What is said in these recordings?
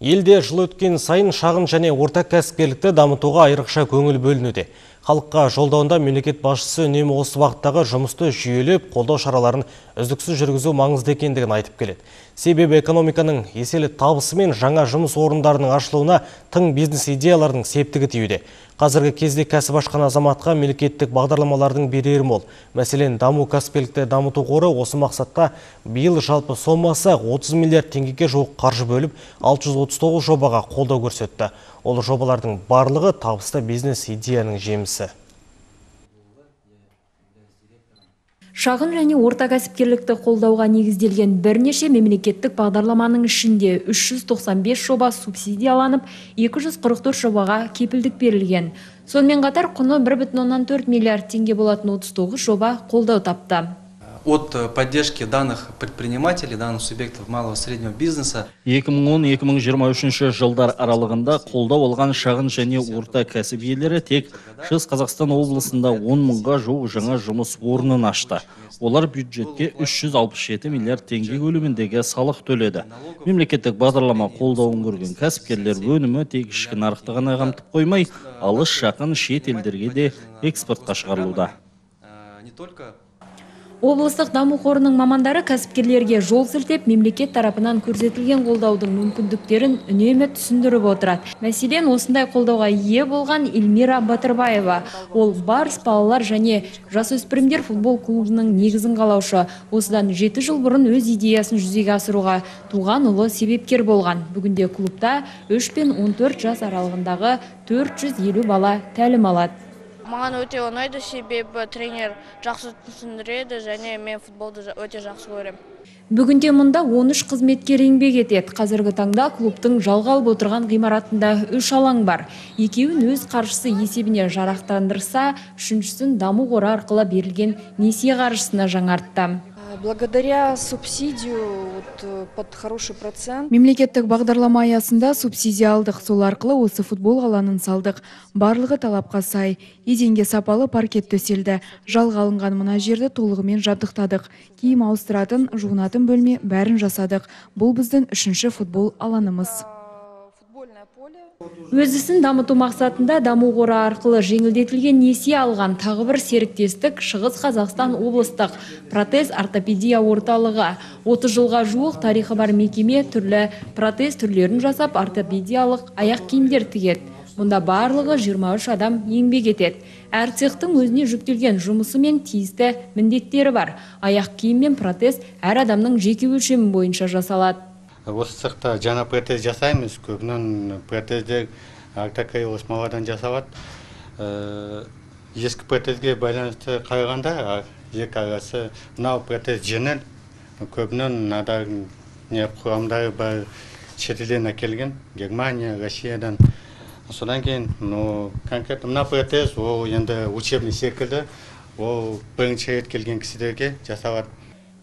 Елде жыл өткен сайын шағын және орта кәсіпкерлікті дамытуға айрықша көңіл бөлінуде. Халыққа жолдауында мемлекет басшысы үнемі осы бағыттағы жұмысты жүйелеп, қолдау шараларын үздіксіз жүргізу маңызды екендігін айтып келеді. Себебі экономиканың еселі табысы мен жаңа жұмыс орындарының ашылуына тың бизнес идеялардың септігі тиюде. Қазіргі кезде кәсіп ашқан азаматқа мемлекеттік бағдарламалардың берері мол. Мәселен, даму кәсіпкерлікті дамыту қоры осы мақсатта биыл жалпы сомасы 30 миллиард теңгеге жуық қаржы бөліп, 639 жобаға қолдау көрсетті. Ол жобалардың барлығы табысты бизнес идеяның жемісі. Шағын және орта кәсіпкерлікті қолдауға негізделген бірнеше мемлекеттік бағдарламаның ішінде 395 жоба субсидияланып, 244 жобаға кепілдік берілген. Сонымен қатар құны 1,4 миллиард теңге болатын 39 жоба қолдау тапты. От поддержки данных предпринимателей, данных субъектов малого и среднего бизнеса. 2010-2023 жылдар аралығында қолдау алған шағын және орта кәсіп иелері тек Шығыс Қазақстан облысында 10 мыңға жуық жаңа жұмыс орнын ашты. Олар бюджетке 367 миллиард теңге көлеміндегі салық төледі. Мемлекеттік бағдарлама қолдауын көрген кәсіпкерлер өнімі тек ішкі нарықты ғана қамтып қоймай, алыс жақын шет елдерге де экспортқа шығарылуда. Облыстық даму қорының мамандары кәсіпкерлерге жол сілтеп, мемлекет тарапынан көрсетілген қолдаудың мүмкіндіктерін үнемі түсіндіріп отырады. Мәселен, осындай қолдауға ие болған Эльмира Батырбаева. Ол Барс балалар және жасөспірімдер футбол клубының негізін қалаушы. Осыдан 7 жыл бұрын өз идеясын жүзеге асыруға туған ұлы себепкер болған. Бүгінде клубта 3 пен 14 жас аралығындағы 450 бала тәлім алады. Маған өте ұнайды, себебі тренер жақсы түсіндіреді және мен футболды өте жақсы көремін. Бүгінде мұнда 13 қызметкер еңбек етеді. Қазіргі таңда клубтың жалға алып отырған ғимаратында 3 алаң бар. Екеуін өз қаржысы есебіне жарақтандырса, үшіншісін даму қоры арқылы берілген несие қаржысына жаңартты. Благодаря субсидию под хороший процент. Мемлекеттік бағдарлама аясында субсидия алдық. Сол арқылы осы футбол алаңын салдық. Барлығы талапқа сай. Еденге сапалы паркет төселді. Жалға алынған мына жерді толығымен жабдықтадық. Киім ауыстыратын, жуынатын бөлме бәрін жасадық. Бұл біздің 3-ші футбол алаңымыз. Өзісін дамыту мақсатында даму қоры арқылы жеңілдетілген несие алған тағы бір серіктестік Шығыс Қазақстан облыстық протез ортопедия орталығы. 30 жылға жуық тарихы бар мекеме түрлі протез түрлерін жасап, ортопедиялық аяқ киімдер тігеді. Мұнда барлығы 23 адам еңбек етеді. Әр цехтың өзіне жүктелген жұмысы мен тиісті міндеттері бар. Аяқ киім мен протез әр адамның жеке өлшемі бойынша жасалады. Осы цехта жаңа протез жасаймыз, көбінен протездер артақай осмаладан жасалады. Ескі протезге байланысты қарағанда, екі арасы мынау протез жеңіл, көбінен надар құрамдары бар шетелден әкелген, Германия, Россиядан. Содан кейін, конкретно мына протез, ол енді учебный секілді, ол бірінші рет келген кісілерге жасалады.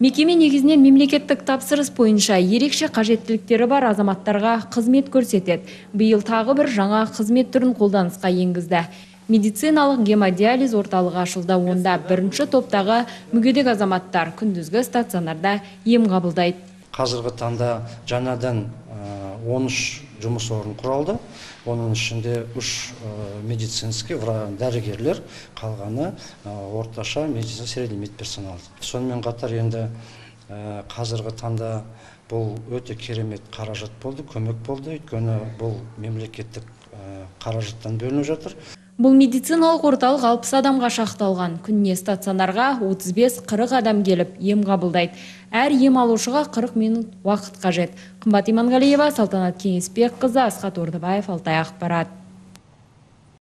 Мекеме негізінен мемлекеттік тапсырыс бойынша ерекше қажеттіліктері бар азаматтарға қызмет көрсетеді. Биыл тағы бір жаңа қызмет түрін қолданысқа енгізді. Медициналық гемодиализ орталығы ашылды. Онда бірінші топтағы мүгедек азаматтар күндізгі стационарда ем қабылдайды. Қазіргі таңда жаңадан 13 жұмыс орын құралды. Оның ішінде 3 медицинский дәрігерлер, қалғаны орташа медицина средний медперсонал. Сонымен қатар енді қазіргі таңда бұл өте керемет қаражат болды, көмек болды. Өйткені бұл мемлекеттік қаражаттан бөлініп жатыр. Бұл медициналық орталық 60 адамға шақталған. Күніне стационарға 35-40 адам келіп ем қабылдайды. Әр ем алушыға 40 минут уақыт қажет. Қымбат Иманғалиева, Салтанат Кеңесбекқызы, Асхат Ордыбаев, Алтай ақпарат.